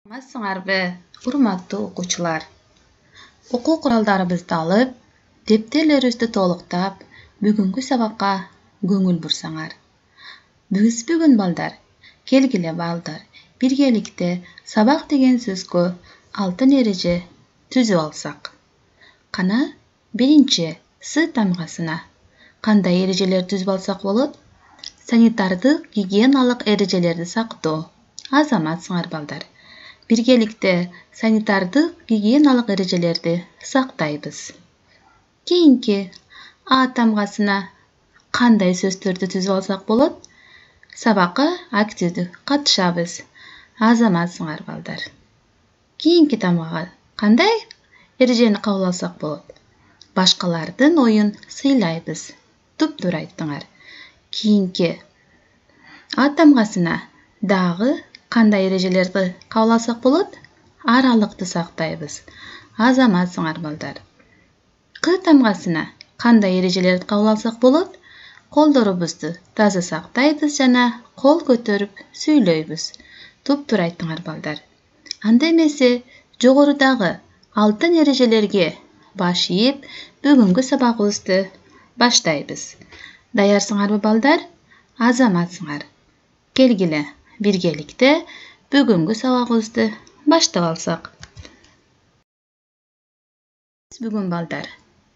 Саламатсыңарбы, урматтуу окуучулар. Окуу куралдарыбызды алып, дептерлерибизди толуктап, бүгүнкү сабакка көңүл бурсаңар. Бүгүн балдар, келгиле балдар, биргеликте сабак деген сөзгө алтын эреже түзүп алсак. Кана, биринчи С тамгасына кандай эрежелер түзүп алсак болот? Санитардык гигиеналык эрежелерди сактоо. Азаматсыңар балдар. Биргеликте санитардык гигиеналык эрежелерди сактайбыз. Кийинки А тамгасына кандай сөздөрдү түзүп алсак болот? Сабакка активдүү катышабыз. Азаматсыңар балдар. Кийинки тамгага кандай эрежени кабыл алсак болот? Башкалардын оюн сыйлайбыз. Туптуура айттыңар. Кийинки А тамгасына дагы кандай эрежелерди кабыл алсак болот? Аралыкты сактайбыз. Азаматсыңар балдар. К тамгасына кандай эрежелерди кабыл алсак болот? Колдорубузду таза сактайбыз жана кол көтөрүп сүйлөйбүз. Туптуура айттыңар балдар. Анда эмесе жогорудагы алтын эрежелерге баш ийип, бүгүнкү сабагыбызды баштайбыз. Даярсыңарбы балдар? Азаматсыңар. Келгиле биргеликте бүгүнкү сабагыбызды баштап алсак. Бүгүн балдар,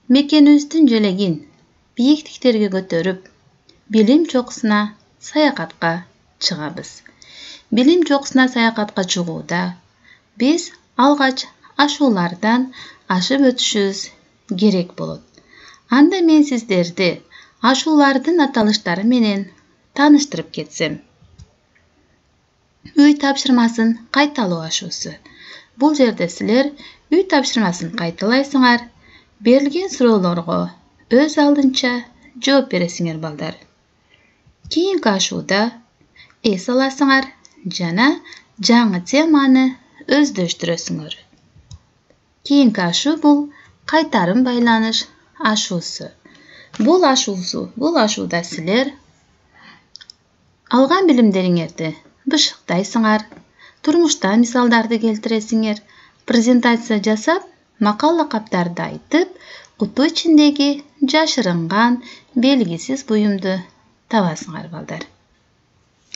мекенибиздин желегин бийиктиктерге көтөрүп, билим чокусуна саякатка чыгабыз. Билим чокусуна саякатка чыгууда биз алгач ашуулардан ашып өтүшүбүз керек болот. Анда мен сиздерди ашуулардын аталыштары менен тааныштырып кетсем. Үй тапшырмасын кайталоо ашуусу. Бул жерде силер үй тапшырмасын кайталайсыңар, берилген суроолорго өз алдынча жооп бересиңер балдар. Кийинки ашууда эс аласыңар жана жаңы теманы өздөштүрөсүңөр. Кийинки ашуу бул кайтарым байланыш ашуусу. Бул ашууда силер алган билимдериңерди бышыктайсыңар, турмуштан мисалдарды келтиресиңер, презентация жасап, макал лакаптарды айтып, куту ичиндеги жашырынган белгисиз буюмду табасыңар балдар.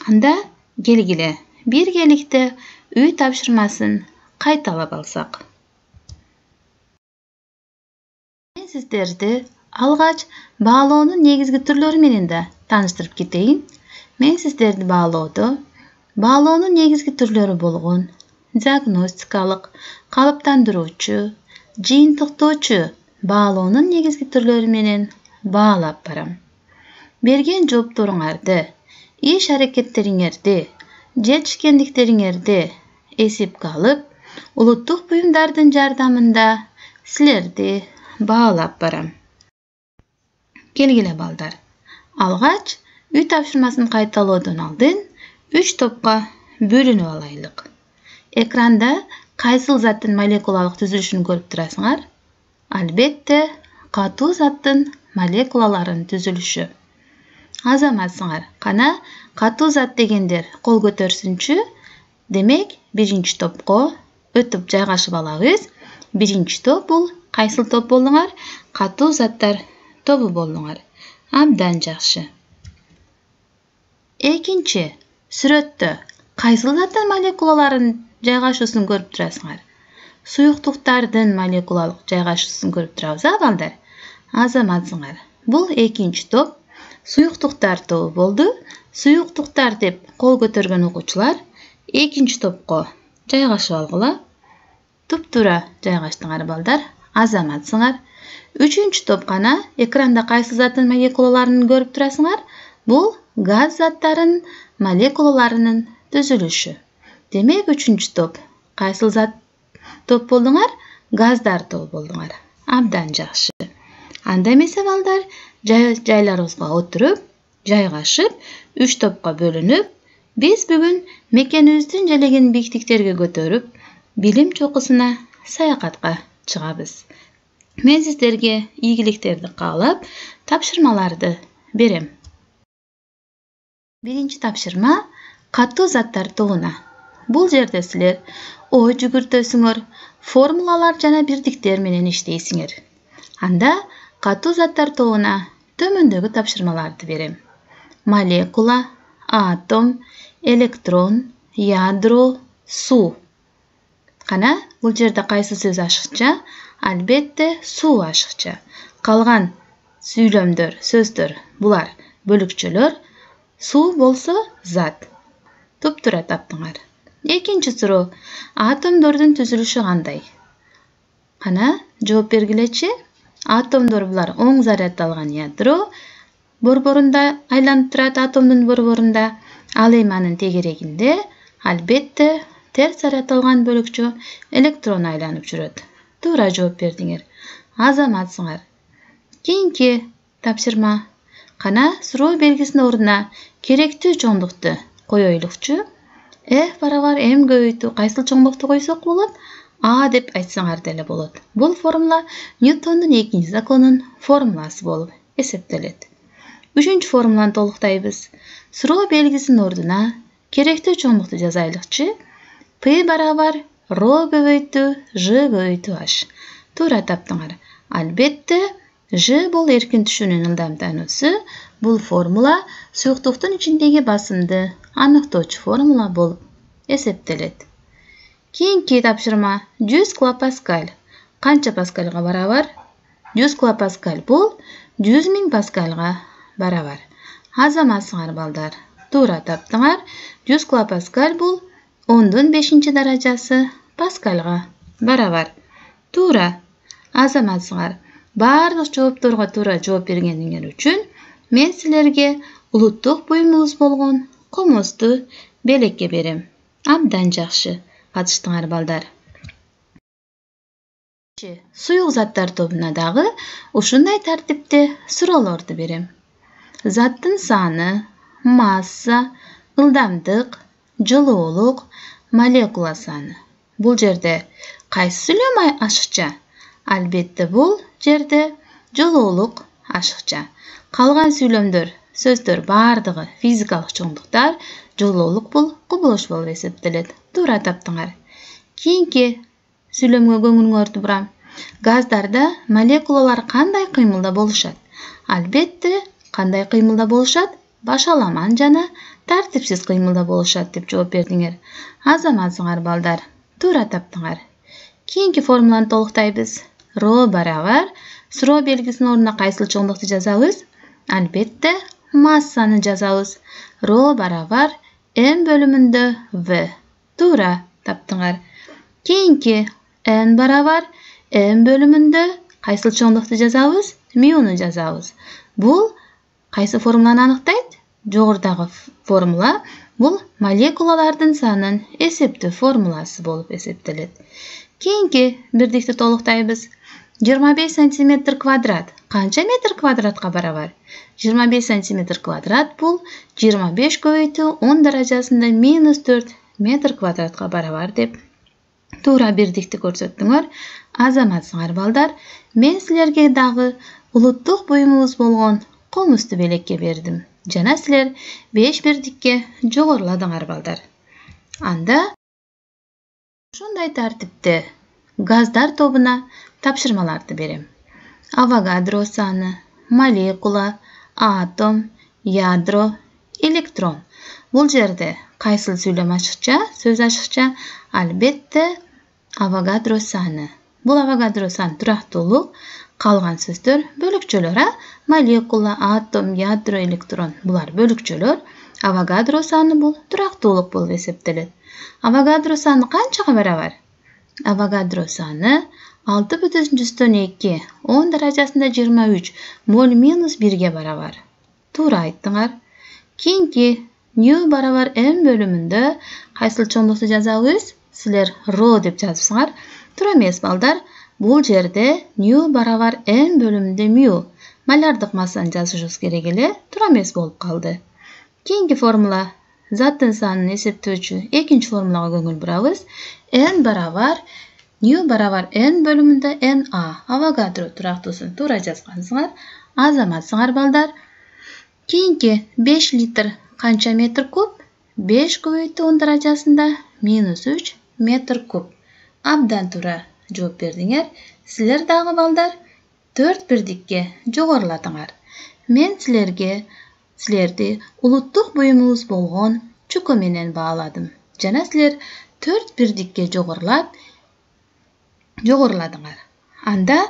Анда келгиле биргеликте үй тапшырмасын кайталап алсак. Мен сиздерди алгач баалоонун негизги түрлөрү менен да тааныштырып кетейин. Мен сиздерди баалоонун негизги түрлөрү болгон диагностикалык, калыптандыруучу, жыйынтыктоочу баалоонун негизги түрлөрү менен баалап барам. Берген жоопторуңарды, иш-аракеттериңерди, жетишкендиктериңерди эсепке алып, улуттук буюмдардын жардамында силерди баалап барам. Келгиле балдар. Алгач үй тапшырмасын кайталоодон алдын 3 топко бөлүнүп алайлык. Экранда кайсыл заттын молекулалык түзүлүшүн көрүп турасыңар? Албетте, катуу заттын молекулаларынын түзүлүшү. Азаматсыңар. Кана, катуу зат дегендер кол көтөрсүнчү? Демек, биринчи топко өтүп жайгашып алабыз. Биринчи топ бул кайсыл топ болдуңар? Катуу заттар тобу болдуңар. Абдан жакшы. Экинчи сүрөттө кайсыл заттын молекулаларынын жайгашуусун көрүп турасыңар? Суюктуктардын молекулалык жайгашуусун көрүп турабыз, балдар. Азаматсыңар. Бул экинчи топ. Суюктуктар тобу болду. Суюктуктар деп кол көтөргөн окуучулар экинчи топко жайгашып алгыла. Туптуура жайгаштыңар балдар. Азаматсыңар. Үчүнчү топ кана, экранда кайсыл заттын молекулаларын көрүп турасыңар? Бул газ заттарынын молекулаларынын түзүлүшү. Демек, үчүнчү топ кайсыл зат топ болдуңар? Газдар тобу болдуңар. Абдан жакшы. Анда эмесе балдар, жайларыбызга отуруп, жайгашып, 3 топко бөлүнүп, биз бүгүн мекенибиздин желегин бийиктиктерге көтөрүп, билим чокусуна саякатка чыгабыз. Мен сиздерге ийгиликтерди каалап, тапшырмаларды берем. Биринчи тапшырма катуу заттар тобуна Бул жерде силер ой жүгүртөсүңөр, формулалар жана бирдиктер менен иштейсиңер. Анда катуу заттар тобуна төмөндөгү тапшырмаларды берем. Молекула, атом, электрон, ядро, суу. Кана, бул жерде кайсы сөз ашыкча? Албетте, суу ашыкча. Калган сүйлөмдөр, сөздөр, булар бөлүкчөлөр. Суу болсо зат. Туп-туура таптыңар. Экинчи суроо. Атомдордун түзүлүшү кандай? Кана, жооп бергилечи. Атомдор булар оң заряддалган ядро. Борборунда айланып турат атомдун борборунда. Ал эми анын тегерегинде албетте терс заряддалган бөлүкчө электрон айланып жүрөт. Туура жооп бердиңер. Азаматсыңар. Кийинки тапшырма. Кана, суроо белгисинин ордуна керектүү чоңдукту коёйлукчу. F барабар m көбөйтүү кайсыл чоңдукту койсок болот? А деп айтсаңар деле болот. Бул формула Ньютондун экинчи законунун формуласы болуп эсептелет. Үчүнчү формуланы толуктайбыз. Суроо белгисинин ордуна керектүү чоңдукту жазайлыкчы. P барабар ρ көбөйтүү Ж көбөйтүү H. Туура таптыңар. Албетте, Ж бул эркин түшүүнүн ылдамтануусу. Бул формула суюктуктун ичиндеги басымды аныктоочу формула болуп эсептелет. Кийинки тапшырма 100 килопаскаль. Канча паскальга барабар? 100 килопаскаль бул 100 000 паскальга барабар. Азаматсыңар балдар. Туура таптыңар. 100 килопаскаль бул 10-5 даражасы паскальга барабар. Туура. Азаматсыңар. Бардык жоопторго туура жооп бергениңер үчүн мен силерге улуттук буюмубуз болгон комузду белекке берем. Абдан жакшы катыштыңар балдар. Суюк заттар тобуна дагы ушундай тартипте суроолорду берем. Заттын саны, масса, ылдамдык, жылуулук, молекула саны. Бул жерде кайсы сүйлөм ашыкча? Албетте бул жерде жылуулук ашыкча. Калган сүйлөмдөр, сөздөр бардыгы физикалык чоңдуктар, жылуулук бул кубулуш болуп эсептелет. Туура таптыңар. Кийинки сүйлөмгө көңүлүңөрдү бурам. Газдарда молекулалар кандай кыймылда болушат? Албетте, кандай кыймылда болушат? Башаламан жана тартипсиз кыймылда болушат деп жооп бердиңер. Азаматсыңар балдар. Туура таптыңар. Кийинки формуланы толуктайбыз. Ро барабар суроо белгисинин ордуна кайсыл чоңдукту жазабыз? Албетте, массаны жазабыз. Ро барабар m бөлүмүндө v. Туура таптыңар. Кийинки n барабар m бөлүмүндө кайсыл чоңдукту жазабыз? Мюну жазабыз. Бул кайсы формуланы аныктайт? Жогорудагы формула бул молекулалардын санын эсептөө формуласы болуп эсептелет. Кийинки бирдикти толуктайбыз. 25 сантиметр квадрат канча метр квадратка барабар? 25 сантиметр квадрат бул 25 көбөйтүү 10 даражасында -4 метр квадратка барабар деп туура бирдикти көрсөттүңөр. Азаматсыңар балдар. Мен силерге дагы улуттук буюмубуз болгон комузду белекке бердим. Жана силер 5 бирдикке жогоруладыңар балдар. Анда ушундай тартипте газдар тобуна тапшырмаларды берем. Авогадро саны, молекула, атом, ядро, электрон. Бул жерде кайсыл сүйлөм ашыкча, сөз ашыкча? Албетте, авогадро саны. Бул авогадро саны турактуулук, калган сөздөр бөлүкчөлөр, молекула, атом, ядро, электрон. Булар бөлүкчөлөр. Авогадро саны бул турактуулук болуп эсептелет. Авогадро саны канчага барабар? Авогадро саны 6,2 10 даражасында 23 моль минус 1ге барабар. Туура айттыңар. Кийинки ню барабар m бөлүмүндө кайсыл чоңдукту жазабыз? Силер ро деп жазыпсыңар. Туура эмес балдар. Бул жерде ню барабар m бөлүмүндө мю. Малярдык массаны жазышыбыз керек эле. Туура эмес болуп калды. Кийинки формула заттын санын эсептөөчү экинчи формулага көңүл бурабыз. N барабар ню барабар n бөлүмүндө na. Авогадро турактуусун туура жазгансыңар. Азаматсыңар балдар. Кийинки 5 литр канча метр куб? 5 көбөйтүү 10 даражасында -3 метр куб. Абдан туура жооп бердиңер. Силер дагы балдар 4 бирдикке жогоруладыңар. Мен силерди улуттук буюмубуз болгон чуко менен бааладым. Жана силер 4 бирдикке жогоруладыңар. Анда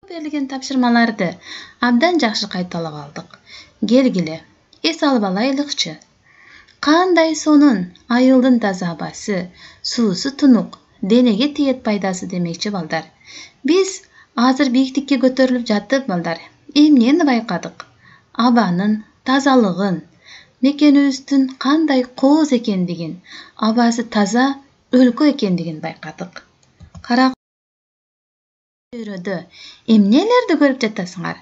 берилген тапшырмаларды абдан жакшы кайталап алдык. Келгиле, эс алып алайлыкчы. Кандай сонун айылдын таза абасы, суусу тунук, денеге тиет пайдасы демекчи балдар. Биз азыр бийиктикке көтөрүлүп жаттык балдар. Эмнени байкадык? Абанын тазалыгын, мекенибиздин кандай кооз экендигин, абасы таза өлкө экендигин байкадык. Чөйрөдө эмнелерди көрүп жатасыңар?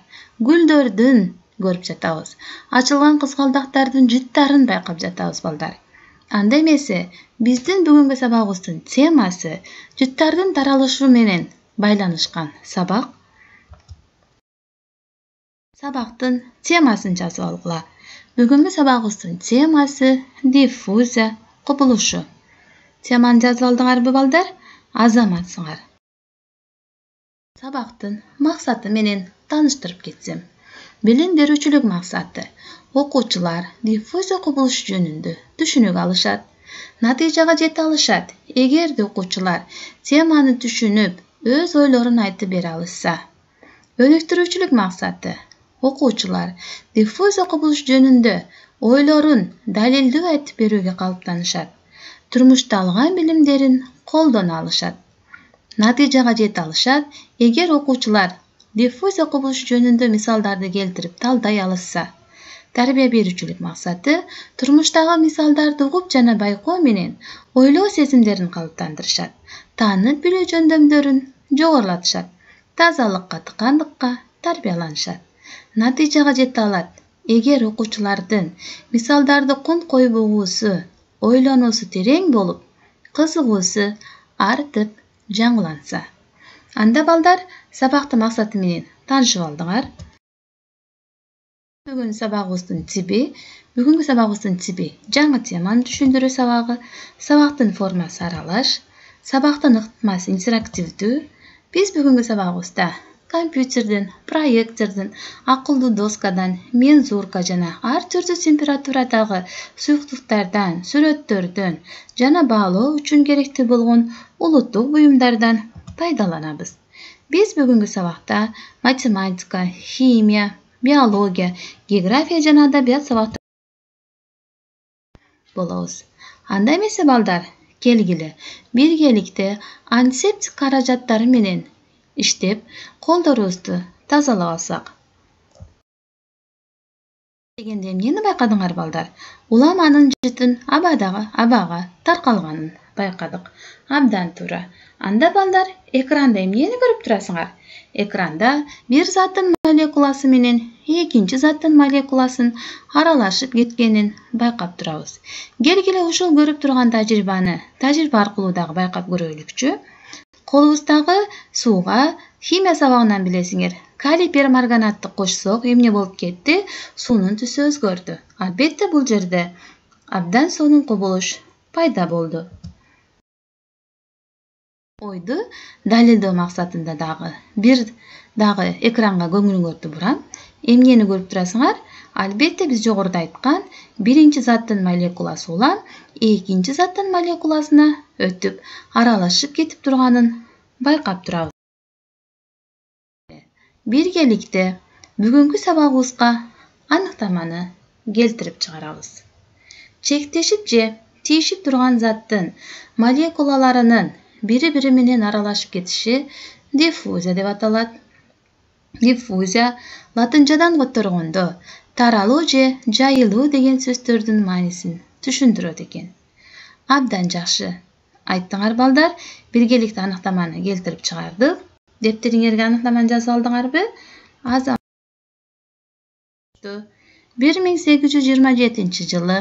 Гүлдөрдүн көрүп жатабыз. Ачылган кызгалдактардын жыттарын байкап жатабыз балдар. Анда эмесе, биздин бүгүнкү сабагыбыздын темасы жыттардын таралышы менен байланышкан сабак. Сабактын темасын жазып алгыла. Бүгүнкү сабагыбыздын темасы диффузия кубулушу. Теманы жазып алдыңарбы балдар? Азаматсыңар. Сабактын максаты менен тааныштырып кетсем. Билим берүүчүлүк максаты. Окуучулар диффузия кубулушу жөнүндө түшүнүк алышат, натыйжага жете алышат. Эгерде окуучулар теманы түшүнүп, өз ойлорун айтып бере алышса. Өнүктүрүүчүлүк максаты. Окуучулар диффузия кубулушу жөнүндө ойлорун далилдүү айтып берүүгө калыптанышат. Турмушта алган билимдерин колдоно алышат. Натыйжага жете алышат. Эгер окуучулар диффузия кубулушу жөнүндө мисалдарды келтирип талдай алышса. Тарбия берүүчүлүк максаты. Турмуштагы мисалдарды угуп жана байкоо менен ойлоо сезимдерин калыптандырышат. Таанып билүү жөндөмдөрүн жогорулатышат. Тазалыкка, тыкандыкка тарбияланышат. Натыйжага жете алат. Эгер окуучулардын мисалдарды кунт коюп угуусу, ойлонуусу терең болуп, кызыгуусу артып, жаңыланса. Анда балдар сабактын максаты менен таанышып алдыңар. Бүгүнкү сабагыбыздын тиби жаңы теманы түшүндүрүү сабагы, сабактын формасы аралаш, сабактын ыкмасы интерактивдүү. Биз бүгүнкү сабагыбызда компьютерден, проектордон, акылдуу доскадан, мензурка жана ар түрдүү температурадагы суюктуктардан, сүрөттөрдөн жана баалоо үчүн керектүү болгон улуттук буюмдардан пайдаланабыз. Биз бүгүнкү сабакта математика, химия, биология, география жана адабият сабактары болобуз. Анда эмесе балдар, келгиле, биргеликте антисептик каражаттары менен иштеп, колдорубузду тазалап алсак. Дегенде эмнени байкадыңар балдар? Уламанын жытын абага таркалганын байкадык. Абдан туура. Анда балдар, экранда эмнени көрүп турасыңар? Экранда бир заттын молекуласы менен экинчи заттын молекуласын аралашып кеткенин байкап турабыз. Келгиле ушул көрүп турган тажрыйба аркылуу дагы байкап көрөлүкчү. Колубуздагы сууга химия сабагынан билесиңер. Калий перманганатты кошсок, эмне болуп кетти? Суунун түсү өзгөрдү. Албетте бул жерде абдан сонун кубулуш пайда болду. Ойду далилдөө максатында дагы экранга көңүлүңөрдү бурам. Эмнени көрүп турасыңар? Албетте биз жогоруда айткан биринчи заттын молекуласы улам, экинчи заттын молекуласына өтүп, аралашып кетип турганын байкап турабыз. Биргеликте бүгүнкү сабагыбызга аныктаманы келтирип чыгарабыз. Чектешип же тийишип турган заттын молекулаларынын бири-бири менен аралашып кетиши диффузия деп аталат. Диффузия латынчадан которгондо таралуу же жайылуу деген сөздөрдүн маанисин түшүндүрөт экен. Абдан жакшы айттыңар балдар. Биргеликте аныктаманы келтирип чыгардык. Дептериңерге аныктаманы жазып алдыңарбы? 1827 жылы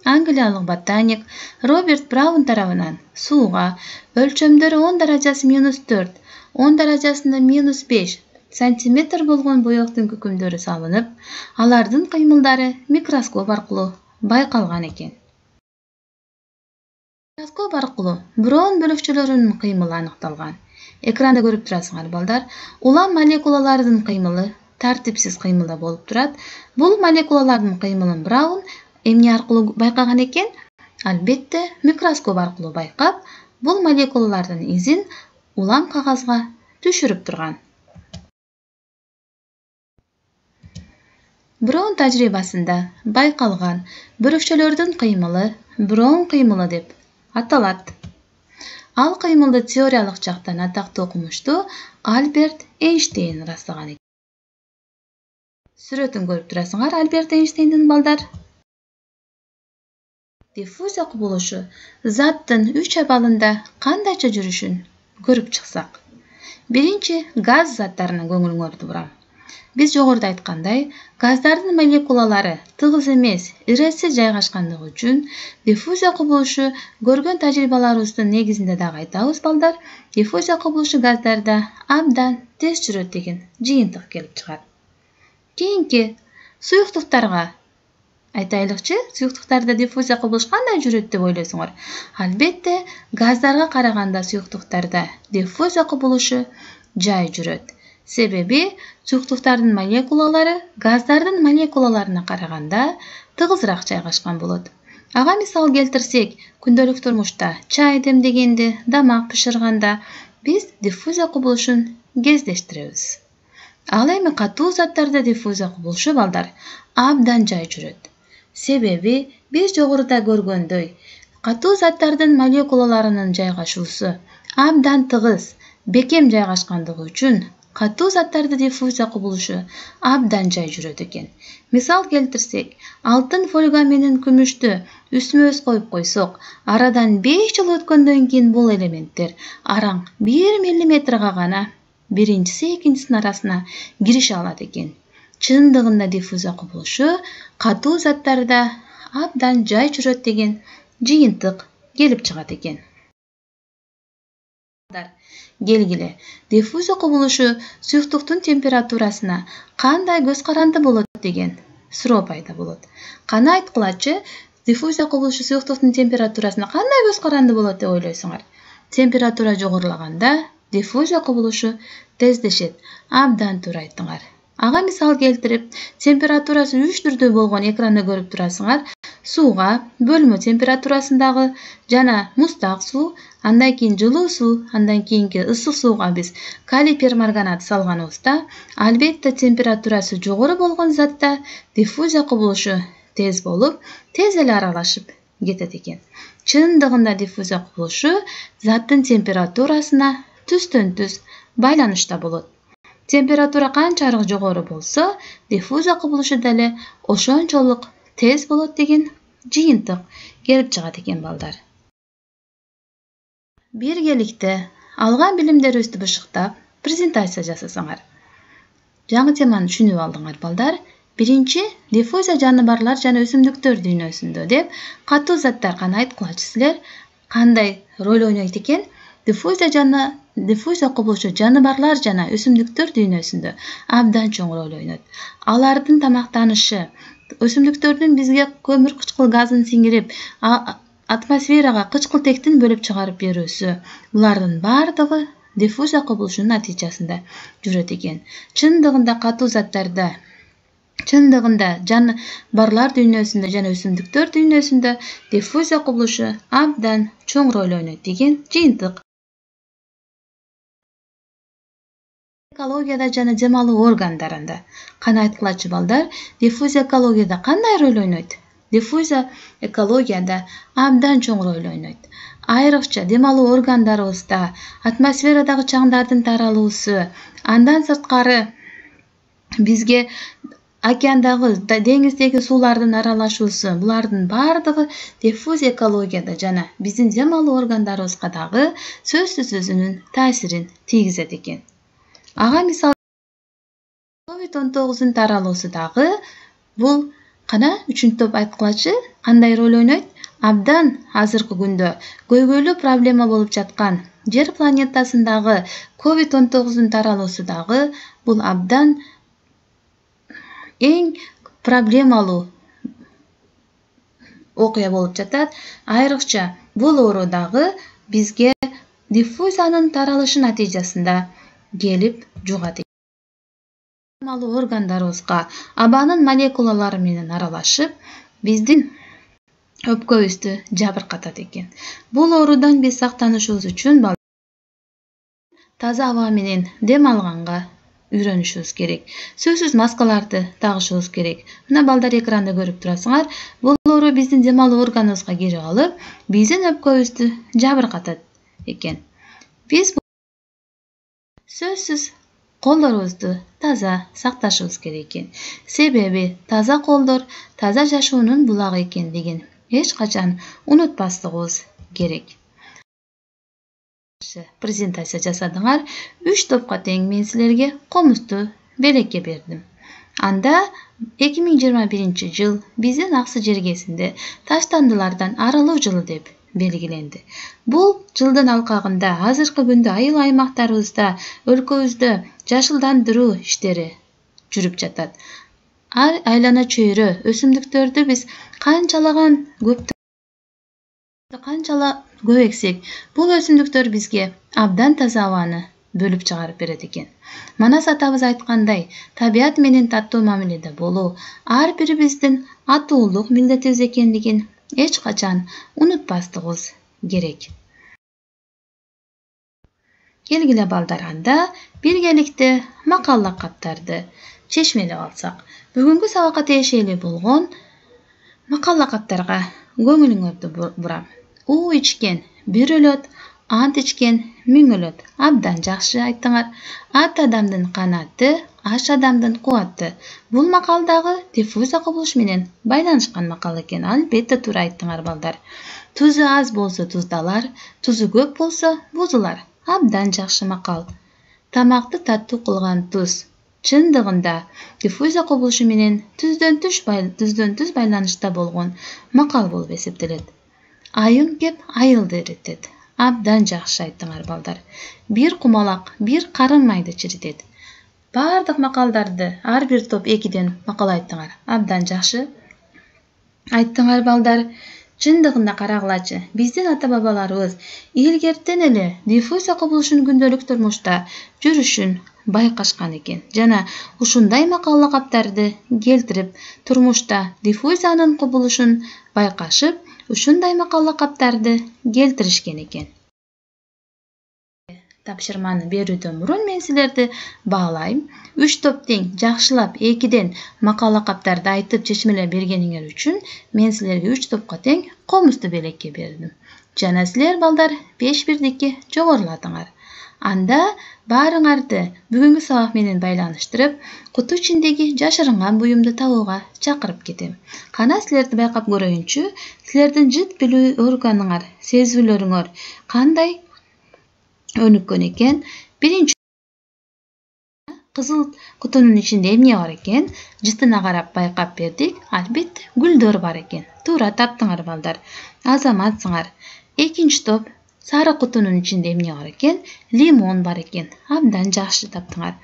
англиялык ботаник Роберт Браун тарабынан сууга өлчөмдөрү 10 даражасы -4, 10 даражасында -5, сантиметр болгон боектун күкүмдөрү салынып, алардын кыймылдары микроскоп аркылуу байкалган экен. Микроскоп аркылуу броун бөлүкчөлөрүнүн кыймылы аныкталган. Экранда көрүп турасыңар балдар, улам молекулалардын кыймылы тартипсиз кыймылда болуп турат. Бул молекулалардын кыймылын Браун эмне аркылуу байкаган экен? Албетте, микроскоп аркылуу байкап, бул молекулалардын изин улам кагазга түшүрүп турган. Браун тажрыйбасында байкалган бөлүкчөлөрдүн кыймылы Браун кыймылы деп аталат. Ал кыймылды теориялык жактан атактуу окумуштуу Альберт Эйнштейн ырастаган экен. Сүрөтүн көрүп турасыңар Альберт Эйнштейндин балдар. Диффузия кубулушу заттын 3 абалында кандайча жүрүшүн көрүп чыксак. Биринчи, газ заттарына көңүлүңөрдү бурам. Биз жогоруда айткандай, газдардын молекулалары тыгыз эмес, иресиз жайгашкандыгы үчүн диффузия кубулушу көргөн тажрыйбаларыбыздын негизинде дагы айтабыз балдар, диффузия кубулушу газдарда абдан тез жүрөт деген жыйынтык келип чыгат. Кийинки, суюктуктарга айтайлыкчы, суюктуктарда диффузия кубулуш кандай жүрөт деп ойлойсуңар? Албетте, газдарга караганда суюктуктарда диффузия кубулушу жай жүрөт. Себеби суюктуктардын молекулалары газдардын молекулаларына караганда тыгызыраак жайгашкан болот. Ага мисал келтирсек, күндөлүк турмушта чай демдегенде, тамак бышырганда биз диффузия кубулушун кездештиребиз. Ал эми катуу заттарда диффузия кубулушу балдар абдан жай жүрөт. Себеби биз жогоруда көргөндөй, катуу заттардын молекулаларынын жайгашуусу абдан тыгыз, бекем жайгашкандыгы үчүн катуу заттарда диффузия кубулушу абдан жай жүрөт экен. Мисал келтирсек, алтын фольга менен күмүштү үстмө-үст коюп койсок, арадан 5 жыл өткөндөн кийин бул элементтер араң 1 миллиметрга гана биринчиси экинчисинин арасына кирише алат экен. Чындыгында диффузия кубулушу катуу заттарда абдан жай жүрөт деген жыйынтык келип чыгат экен. Келгиле, диффузия кубулушу суюктуктун температурасына кандай көз каранды болот деген суроо пайда болот. Кана айткылачы, диффузия кубулушу суюктуктун температурасына кандай көз каранды болот деп ойлойсуңар? Температура жогорулаганда диффузия кубулушу тездешет. Абдан туура айттыңар. Ага мисал келтирип, температурасы 3 түрдүү болгон экранда көрүп турасыңар. Сууга бөлмө температурасындагы жана муздак суу, андан кийин жылуу суу, андан кийинки ысык сууга биз калий перманганат салганыбызда, албетте температурасы жогору болгон затта диффузия кубулушу тез болуп, тез эле аралашып кетет экен. Чындыгында диффузия кубулушу заттын температурасына түстөн-түз байланышта болот. Температура канчалык жогору болсо, диффузия кубулушу деле ошончолук тез болот деген жыйынтык келип чыгат экен балдар. Биргеликте алган билимдерибизди бышыктап, презентация жасасаңар. Жаңы теманы түшүнүп алдыңар балдар. Биринчи, диффузия жаныбарлар жана өсүмдүктөр дүйнөсүндө деп катуу заттар кана айткылачы силер кандай роль ойнойт экен? Диффузия кубулушу жаныбарлар жана өсүмдүктөр дүйнөсүндө абдан чоң роль ойнойт. Алардын тамактанышы, өсүмдүктөрдүн бизге көмүр кычкыл газын сиңирип, атмосферага кычкылтектин бөлүп чыгарып берүүсү, булардын бардыгы диффузия кубулушунун натыйжасында жүрөт экен. Чындыгында катуу заттарда, жаныбарлар дүйнөсүндө жана өсүмдүктөр дүйнөсүндө диффузия кубулушу абдан чоң роль ойнойт деген жыйынтык. Экологияда жана дем алуу органдарында кана айткылачы балдар, диффузия экологияда кандай роль ойнойт? Диффузия экологияда абдан чоң роль ойнойт. Айрыкча дем алуу органдарыбызда атмосферадагы чаңдардын таралуусу, андан сырткары бизге океандагы, деңиздеги суулардын аралашуусу, булардын бардыгы диффузия экологияда жана биздин дем алуу органдарыбызга дагы сөзсүз өзүнүн таасирин тийгизет экен. Ага мисал COVID-19 таралуусу дагы бул Кана үчүнчү топ айткылачы кандай роль ойнойт? Абдан азыркы күндө көйгөйлүү проблема болуп жаткан Жер планетасындагы COVID-19 таралуусу дагы бул абдан эң проблемалуу окуя болуп жатат. Айрыкча бул оору дагы бизге диффузиянын таралышы натыйжасында келип жугат. Малуу органдарыбызга абанын молекулалары менен аралашып, биздин өпкөбүздү жабыркатат экен. Бул оорудан биз сактанышыбыз үчүн таза аба менен дем алганга үйрөнүшүбүз керек. Сөзсүз маскаларды тагышыбыз керек. Мына балдар экранда көрүп турасыңар. Бул оору биздин дем алуу органыбызга кирип алып, биздин өпкөбүздү жабыркатат экен. Биз сөзсүз колдорубузду таза сакташыбыз керек экен. Себеби таза колдор таза жашоонун булагы экендигин эч качан унутпастыгыбыз керек. Презентация жасадыңар. 3 топко тең мен силерге комузду белекке бердим. Анда 2021 жыл биздин Аксы жергесинде таштандылардан арылуу жылы деп белгиленди. Бул жылдын алкагында азыркы күндө айыл аймактарыбызда өлкөбүздө жашылдандыруу иштери жүрүп жатат. Айлана чөйрө өсүмдүктөрдү биз канчалык көп эксек, бул өсүмдүктөр бизге абдан таза абаны бөлүп чыгарып берет экен. Манас атабыз айткандай, табият менен таттуу мамиледе болуу ар бирибиздин атуулук милдетибиз экендигин эч качан унутпастыгыбыз керек. Келгиле балдар, анда биргеликте макал лакаптарды чечмелеп алсак. Бүгүнкү сабакка тиешелүү болгон макал лакаптарга көңүлүңөрдү бурам. У ичкен бир өлөт, ант ичкен миң өлөт. Абдан жакшы айттыңар. Ат адамдын канаты, аш адамдын кубаты. Бул макалдагы диффузия кубулушу менен байланышкан макал экен. Албетте туура айттыңар балдар. Тузу аз болсо туздалар, тузу көп болсо бузулар. Абдан жакшы макал. Тамакты таттуу кылган туз. Чындыгында диффузия кубулушу менен түздөн түз байланышта болгон макал болуп эсептелет. Айың кеп айылды эритет. Абдан жакшы айттыңар балдар. Бир кумалак бир карын майды чиритет. Бардык макалдарды ар бир топ 2ден макал айттыңар. Абдан жакшы айттыңар балдар. Чындыгында карагылачы, биздин ата-бабаларыбыз илгертен эле диффузия кубулушунун күндөлүк турмушта жүрүшүн байкашкан экен. Жана ушундай макал лакаптарды келтирип, турмушта диффузиянын кубулушун байкашып, ушундай макал лакаптарды келтиришкен экен. Тапшырманы берүүдөн мурун мен силерди баалайм. 3 топ тең жакшылап 2ден макал лакаптарды айтып чечмелеп бергениңер үчүн мен силерге 3 топко тең комузду белекке бердим. Жана силер балдар 5 бирдикке жогоруладыңар. Анда баарыңарды бүгүнкү сабак менен байланыштырып, куту ичиндеги жашырынган буюмду табууга чакырып кетем. Кана силерди байкап көрөйүнчү, силердин жыт билүү органыңар, сезүүлөрүңөр кандай өнүккөн экен? Биринчи кызыл кутунун ичинде эмне бар экен? Жытына карап байкап бердик. Албетте гүлдөр бар экен. Туура таптыңар балдар. Азаматсыңар. Экинчи топ сары кутунун ичинде эмне бар экен? Лимон бар экен. Абдан жакшы таптыңар.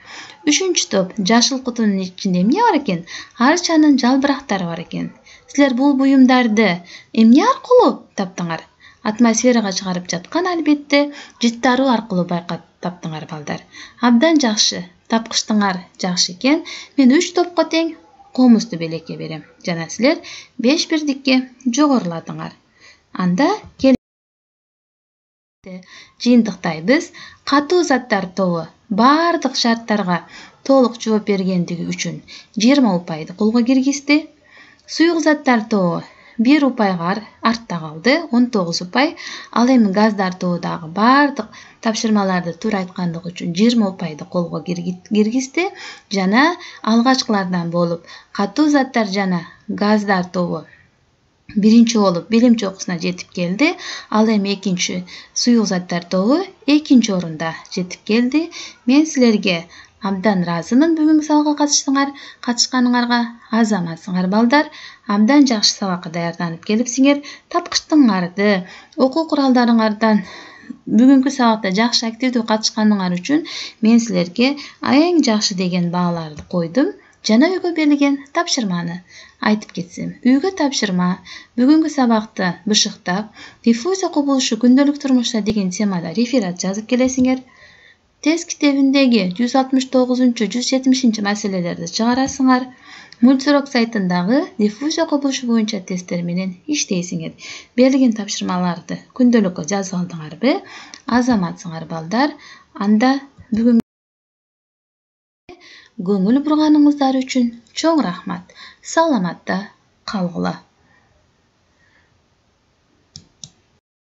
Үчүнчү топ жашыл кутунун ичинде эмне бар экен? Арчанын жалбырактары бар экен. Силер бул буюмдарды эмне аркылуу таптыңар? Атмосферага чыгарып жаткан албетте жыттаруу аркылуу байкап таптыңар балдар. Абдан жакшы. Тапкычтыңар жакшы экен. Мен 3 топко тең комузду белекке берем. Жана силер 5 бирдикке жогоруладыңар. Анда жыйынтыктайбыз. Катуу заттар тобу бардык шарттарга толук жооп бергендиги үчүн 20 упайды колго киргизди. Суюк заттар тобу 1 упайга артта калды, 19 упай. Ал эми газдар тобу дагы бардык тапшырмаларды туура айткандыгы үчүн 20 упайды колго киргизди. Жана алгачкылардан болуп катуу заттар жана газдар тобу биринчи болуп билим чокусуна жетип келди. Ал эми экинчи суюк заттар тобу экинчи орунда жетип келди. Мен силерге Абдан ыраазымын бүгүнкү сабакка катышканыңарга. Азаматсыңар балдар. Абдан жакшы сабакка даярданып келипсиңер. Тапкычтыңарды, окуу куралдарыңардан бүгүнкү сабакта жакшы активдүү катышканыңар үчүн мен силерге эң жакшы деген бааларды койдум. Жана үйгө берилген тапшырманы айтып кетсем. Үйгө тапшырма бүгүнкү сабакты бышыктап, диффузия кубулушу күндөлүк турмушта деген темада реферат жазып келесиңер. Тест китебиндеги 169-170 маселелерди чыгарасыңар. Мультурок сайтындагы диффузия кубулушу боюнча тесттер менен иштейсиңер. Берилген тапшырмаларды күндөлүккө жазып алдыңарбы? Азаматсыңар балдар. Анда бүгүн көңүл бурганыңыздар үчүн чоң рахмат. Саламатта калгыла.